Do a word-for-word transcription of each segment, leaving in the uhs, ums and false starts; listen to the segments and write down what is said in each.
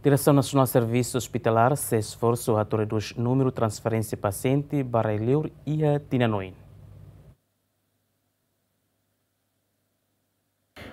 Diresaun Nasionál Servisu Ospitalar sei esforsu atu redús númeru transferénsia pasiente ba rai-liur iha tinan oin.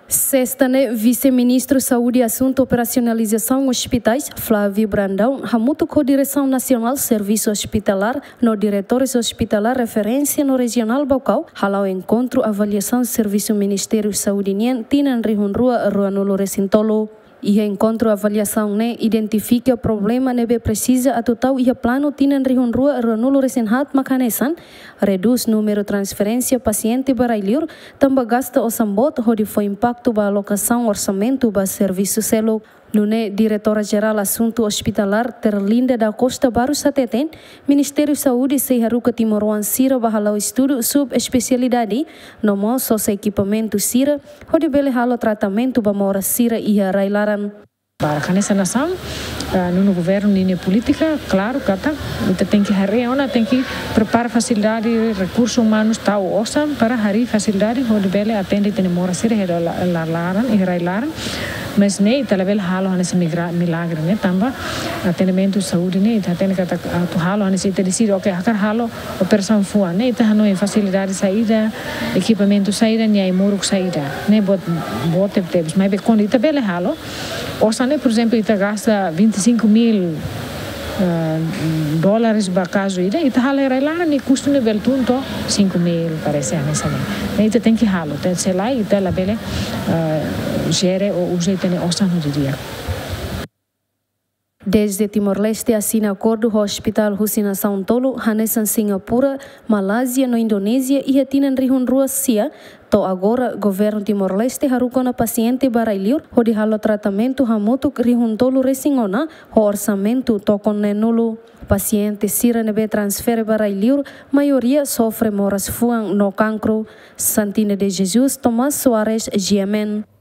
Sesta ne'e, Vise-Ministru Saúde, Asuntu Operasionalizasaun Ospitais, Flávio Brandão, hamutuk ho Diresaun Nasionál Servisu Ospitalar no diretores ospitalar referénsia no rejionál Baucau hala'o enkontru avaliasaun servisu Ministériu Saúde nian tinan rihun rua ruanulu-resin-tolu. Iha enkontru avaliasaun ne'e identifika problema ne'ebé presiza atu tau iha planu tinan rihun rua ruanulu-resin-haat, mak hanesan redús númeru transferénsia pasiente ba rai-liur, tanba gasta osan boot hodi fó impaktu ba alokasaun orsamentu ba servisu seluk. Nune'e, Diretora Jerál Asuntu Ospitalar, Terlinda da Costa Barros, hateten Ministériu Saúde sei haruka timoroan sira ba hala'o estudu subespesialidade, no mós sosa ekipamentu sira hodi bele halo tratamentu ba moras sira iha rai-laran. Para hanesan nasaun, ah, nonu governu ninia polítika, klaru katak ita tenke harii ona, tenke prepara fasilidade, rekursu umanus, tau osan para harii fasilidade hodi bele atende ita-nia moras sira iha la-, la-, laran, iha rai-laran. Mas ne'e ita labele halo hanesan migra-, milagre ne'e, tanba atendimentu saúde ne'e ita hatene katak atu halo hanesan ita deside, oke, hakarak halo operasaun fuan ne'e, ita hanoin fasilidade saida, ekipamentu saida, nia ai-moruk saida. Ne'e boot, boot tebetebes. Maibé kuandu ita bele halo, osan ne'e, por ezemplu, ita gasta vinte e cinco mil, ah, dólares ba kazu ida, ita halo iha rai-laran, nia kustu ne'e bele tun to'o cinco mil, parese, hanesan ne'e. Ne'e ita tenke halo, te-, se lae ita labele, ah, jere ou uza ita-nia osan ho di'ak. Desde Timor-Leste asina akordu ho ospitál husi nasaun tolu, hanesan Singapura, Malázia no Indonézia, iha tinan rihun rua sia, to'o agora, governu Timor-Leste haruka ona pasiente ba rai-liur hodi halo tratamentu hamutuk rihun tolu-resin-ona, ho orsamentu tokon neen-nulu. Pasiente sira ne'ebé transfere ba rai-liur, maioria sofre moras fuan no kankru. Santina de Jesus, Tomás Soares, G M N.